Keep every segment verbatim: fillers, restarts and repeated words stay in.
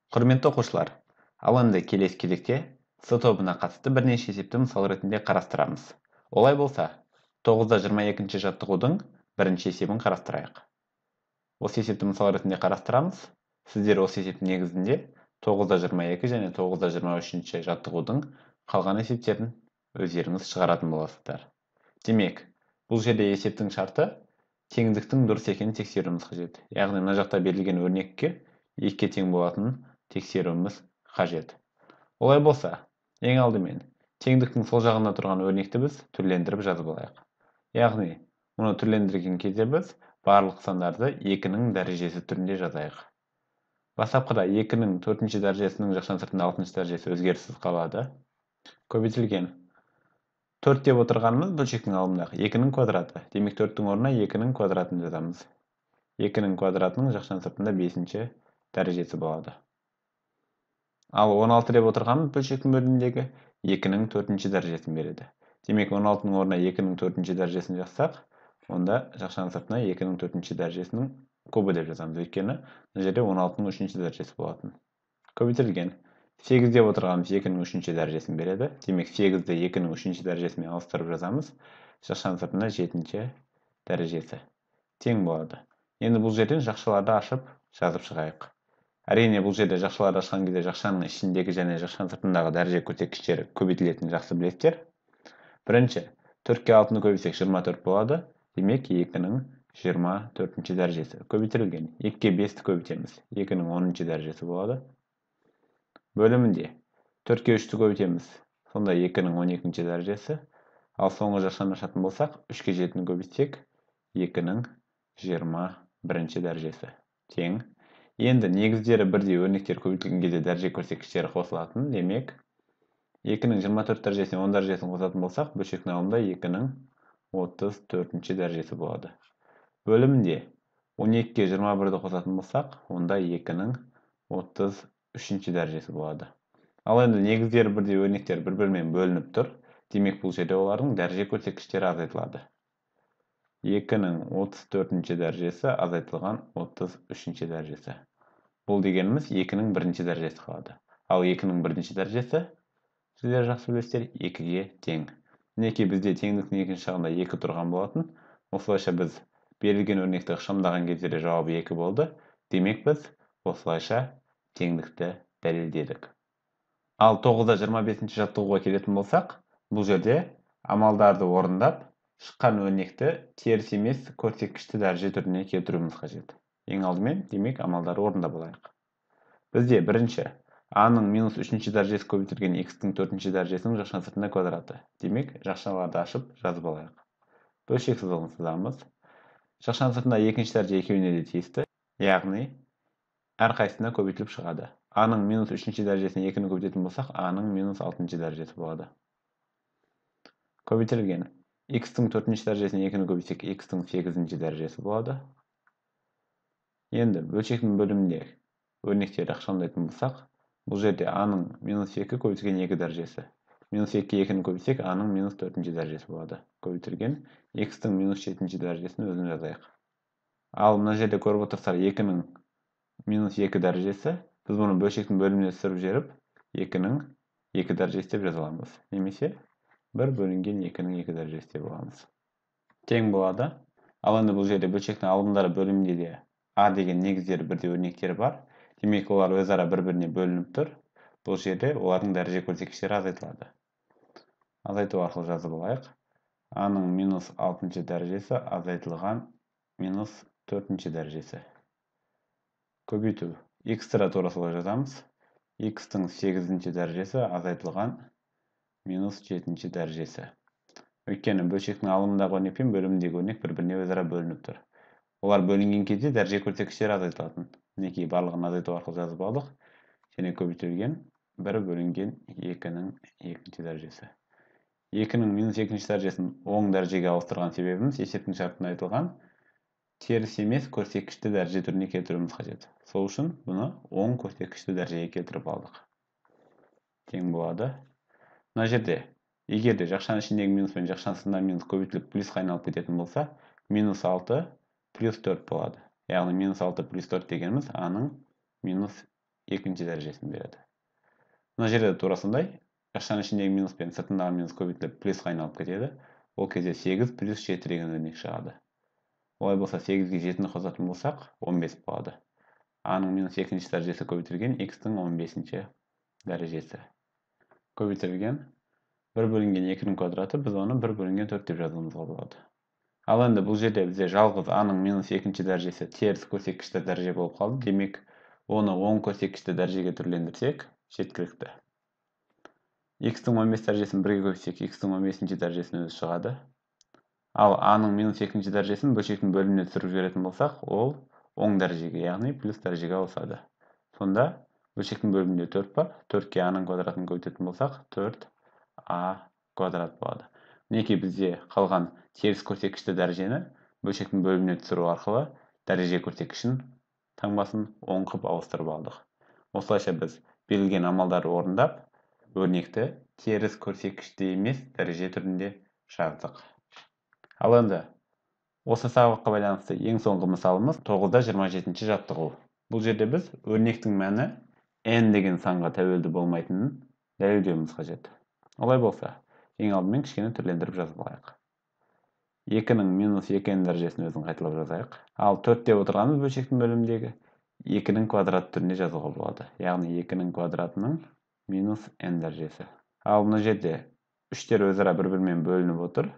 Құрметті оқушылар, ал енді келесі кезекте С тобына қатысты бірнеше есепті мысал ретінде қарастырамыз. Олай болса, тоғызда жиырма екінші жаттығудың бірінші есебін қарастырайық. Осы есепті мысал ретінде қарастырамыз. Сіздер осы есептің негізінде тоғызда жиырма екі және тоғызда жиырма үшінші жаттығудың қалған есептерін өздеріңіз шығаратын боласыздар. Демек, бұл жерде есептің шарты теңдіктің дұрыс екенін тексеруіміз қажет. Яғни мына жақта берілген өрнекке екіге тең болатынын тексеруіміз қажет. Олай болса, ең алдымен теңдіктің сол жағында тұрған өрнекті біз түрлендіріп жазып алайық. Яғни, мұны түрлендірген кезде біз барлық сандарды екінің дәрежесі түрінде жазайық. Бастапқыда екінің төртінші дәрежесінің жақшан сыртында алтыншы дәрежесі өзгеріссіз қалады. Көбейтілген төрт деп отырғанымыз бөлшектің алымындағы екінің квадраты. Демек төрттің орнына екінің квадратын жазамыз. екінің квадратының жақшан сыртында бесінші дәрежесі болады. Ал он алты деп отырғанымыз бөлшектің бөліміндегі екінің төртінші дәрежесін береді. Демек он алтының орнына екінің төртінші дәрежесін жазсақ, онда жақшан сыртына екінің төртінші дәрежесінің кубы деп жазамыз. Өйткені мына жерде он алтының үшінші дәрежесі болатын. Көбейтілген сегіз деп отырғанымыз екінің үшінші дәрежесін береді. Демек сегізді екінің үшінші дәрежесімен ауыстырып жазамыз. Жақшан сыртына жетінші дәрежесі тең болады. Енді бұл жерден жақшаларды ашып жазып шығайық. Әрине, бұл жерде жақшаларды ашқан кезде жақшаның ішіндегі және жақшан сыртындағы дәреже көрсеткіштері көбейтілетінін жақсы білесіздер. Бірінші, төртке алтыны көбейтсек жиырма төрт болады. Демек екінің жиырма төртінші дәрежесі. Көбейтілген екіге бесті көбейтеміз. екінің оныншы дәрежесі болады. Бөлімінде төртке үшті көбейтеміз. Сонда екінің он екінші дәрежесі. Ал соңғы жақшаны ашатын болсақ, үшке жетіні көбейтсек, екінің жиырма бірінші дәрежесі тең. Енді негіздері бірдей өрнектер көбейтілген кезде дәреже көрсеткіштері қосылатын. Демек, екінің жиырма төрт дәрежесіне он дәрежесін қосатын болсақ, бөлшектің алымында екінің отыз төртінші дәрежесі болады. Бөлімінде он екіге жиырма бірді қосатын болсақ, онда екінің отыз үшінші дәрежесі болады. Ал енді негіздері бірдей өрнектер бір-бірімен бөлініп тұр. Демек, бұл жерде олардың дәреже көрсеткіштері азайтылады. екінің отыз төртінші дәрежесі азайтылған отыз үшінші дәрежесі. Бұл дегеніміз екінің бірінші дәрежесі қалады. Ал екінің бірінші дәрежесі, сіздер жақсы білесіздер, екіге тең. Мінекей бізде теңдіктің екінші жағында екі тұрған болатын. Осылайша біз берілген өрнекті ықшамдаған кезде жауабы екі болды. Демек, біз осылайша теңдікті дәлелдедік. Ал тоғызда жиырма бесінші жаттығуға келетін болсақ, бұл жерде амалдарды орындап, шыққан өрнекті теріс емес көрсеткішті дәреже түріне келтіруіміз қажет. Ең алдымен, демек, амалдарды орындап алайық. Бізде бірінші, а-ның минус үшінші дәрежесі көбейтілген х-тің төртінші дәрежесінің жақшан сыртында квадраты. Демек, жақшаларды ашып жазып алайық. Бөлшек сызығын сызамыз. Жақшан сыртында екінші дәреже екеуіне де тиісті. Яғни, әрқайсысына көбейтіліп шығады. А-ның минус үшінші дәрежесіне екіні көбейтетін болсақ, а-ның минус алтыншы дәрежесі болады. Көбейтілген х-тің төртінші дәрежесіне екіні көбейтсек, х-тің сегізінші дәрежесі болады. Енді бөлшектің бөлімінде өрнектерді ықшамдайтын болсақ, бұл жерде а-ның минус екі көбейтілген екі дәрежесі. Минус екіге екіні көбейтсек, а-ның минус төртінші дәрежесі болады. Көбейтілген х-тің минус жетінші дәрежесін өзін жазайық. Ал мына жерде көріп отырсыздар, екінің минус екі дәрежесі. Біз бұны бөлшектің бөліміне түсіріп жіберіп, екінің екі дәрежесі деп жаза аламыз. Немесе бір бөлінген екінің екі дәрежесі деп аламыз. Тең болады. Ал енді бұл жерде бөлшектің алымдары бөлімінде де а деген негіздері бірдей өрнектері бар. Демек, олар өзара бір-біріне бөлініп тұр. Бұл жерде олардың дәреже көрсеткіштері азайтылады. Азайту арқылы жазып алайық. А-ның минус алтыншы дәрежесі азайтылған минус төртінші дәрежесі. Көбейту. Х-тіра тура солай жазамыз. Х-тің сегізінші дәрежесі азайтылған минус жетінші дәрежесі. Өйткені бөлшектің алымындағы өрнек пен бөліміндегі өрнек бір-біріне өзара бөлініп тұр. Олар бөлінген кезде дәреже көрсеткіштері азайтылатын. Мінекей барлығын азайту арқылы жазып алдық. Және көбейтілген бір бөлінген екінің екінші дәрежесі. екінің минус екінші дәрежесін оң дәрежеге ауыстырған себебіміз есептің шартында айтылған теріс емес көрсеткішті дәреже түріне келтіруіміз қажет. Сол үшін бұны оң көрсеткішті дәрежеге келтіріп алдық. Тең болады. Мына жерде, егер де жақшан ішіндегі минус пен жақшан сыртындағы минус көбейтіліп плюсқа айналып кететін болса, минус алты плюс төрт болады. Яғни минус алты плюс төрт дегеніміз а-ның минус екінші дәрежесін береді. Мына жерде тура сондай. Жақшаның ішіндегі минус пен сыртындағы минус көбейтіліп плюсқа айналып кетеді. Ол кезде сегіз плюс жеті деген өрнек шығады. Олай болса сегізге жетіні қосатын болсақ, он бес болады. А-ның минус екінші дәрежесі көбейтілген х-тың он бесінші дәрежесі. Көбейтілген бір бөлінген екінің квадраты, біз оны бір бөлінген төрт деп жазуымызға болады. Ал енді бұл жерде бізде жалғыз А-ның минус екінші дәрежесі теріс көрсеткішті дәреже болып қалды. Демек, оны оң көрсеткішті дәрежеге түрлендірсек, жеткілікті. Х-тың он бес дәрежесін бірге көбейтсек, х-тың он бесінші дәрежесін өзі шығады. Ал А-ның минус екінші дәрежесін бөлшектің бөліміне түсіріп жіберетін болсақ, ол оң дәрежеге, яғни плюс дәрежеге ауысады. Сонда бөлшектің бөлімінде төрт бар. төртке А-ның квадратын көбейтетін болсақ, төрт А квадрат болады. Мінекей бізде қалған теріс көрсеткішті дәрежені бөлшектің бөліміне түсіру арқылы дәреже көрсеткішін таңбасын оң қылып ауыстырып алдық. Осылайша біз берілген амалдарды орындап, өрнекті теріс көрсеткішті емес дәреже түрінде жаздық. Ал енді осы сабаққа байланысты ең соңғы мысалымыз тоғызда жиырма жетінші жаттығу. Бұл жерде біз өрнектің мәні n деген санға тәуелді болмайтынын дәлелдеуіміз қажет. Олай болса, ең алдымен кішкене түрлендіріп жазып алайық. екінің минус екі н дәрежесін өзін қайталап жазайық. Ал төрт деп отырғанымыз бөлшектің бөліміндегі екінің квадрат түрінде жазуға болады. Яғни екінің квадратының минус n дәрежесі. Ал мына жерде үштер өзара бір-бірімен бөлініп отыр.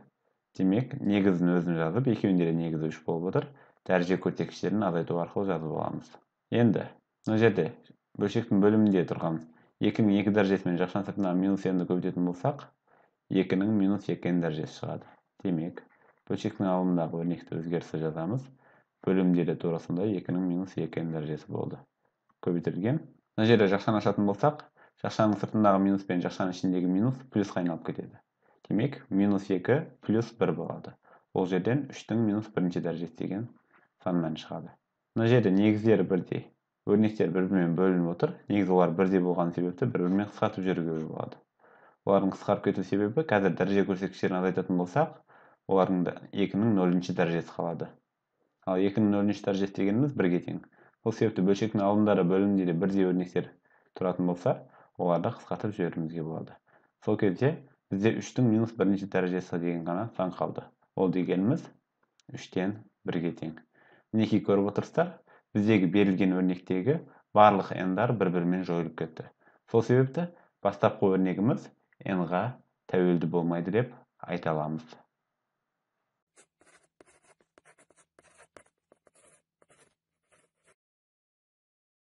Демек, негізін өзін жазып, екеуінде де негізі үш болып отыр. Дәреже көрсеткіштерін азайту арқылы жазып аламыз. Енді, мына жерде бөлшектің бөлімінде тұрған екінің екі дәрежесімен жақшаның сыртына минус n-ді көбейтетін болсақ, екінің минус екі н дәрежесі шығады. Демек, бөлшектің алымындағы өрнекті өзгерісі жазамыз. Бөлімде де тура сондай екінің минус екі н дәрежесі болды. Көбейтілген. Мына жерде жақшаны ашатын болсақ, жақшаның сыртындағы минус пен жақшаның ішіндегі минус плюсқа айналып кетеді. Демек, минус екі плюс бір болады. Ол жерден үштің минус бірінші дәрежесі деген саннан шығады. Мына жерде негіздері бірдей. Өрнектер бір-бірімен бөлініп отыр. Негізі олар бірдей болған себепті бір-бірімен қысқартып жіберуге болады. Олардың қысқарып кету себебі қазір дәреже көрсеткіштерін азайтатын болсақ, олардың екінің нөлінші дәрежесі қалады. Ал екінің нөлінші дәрежесі дегеніміз бірге тең. Бұл себепті бөлшектің алымдары бөлімінде де бірдей өрнектер тұратын болса, оларды қысқартып жіберуімізге болады. Сол кезде бізде үштің минус бірінші дәрежесі деген ғана сан қалды. Ол дегеніміз үштен бірге тең. Мінекей көріп отырсыздар, біздегі берілген өрнектегі барлық n-дар бір-бірімен жойылып кетті. Сол себепті бастапқы өрнегіміз n-ға тәуелді болмайды деп айта аламыз.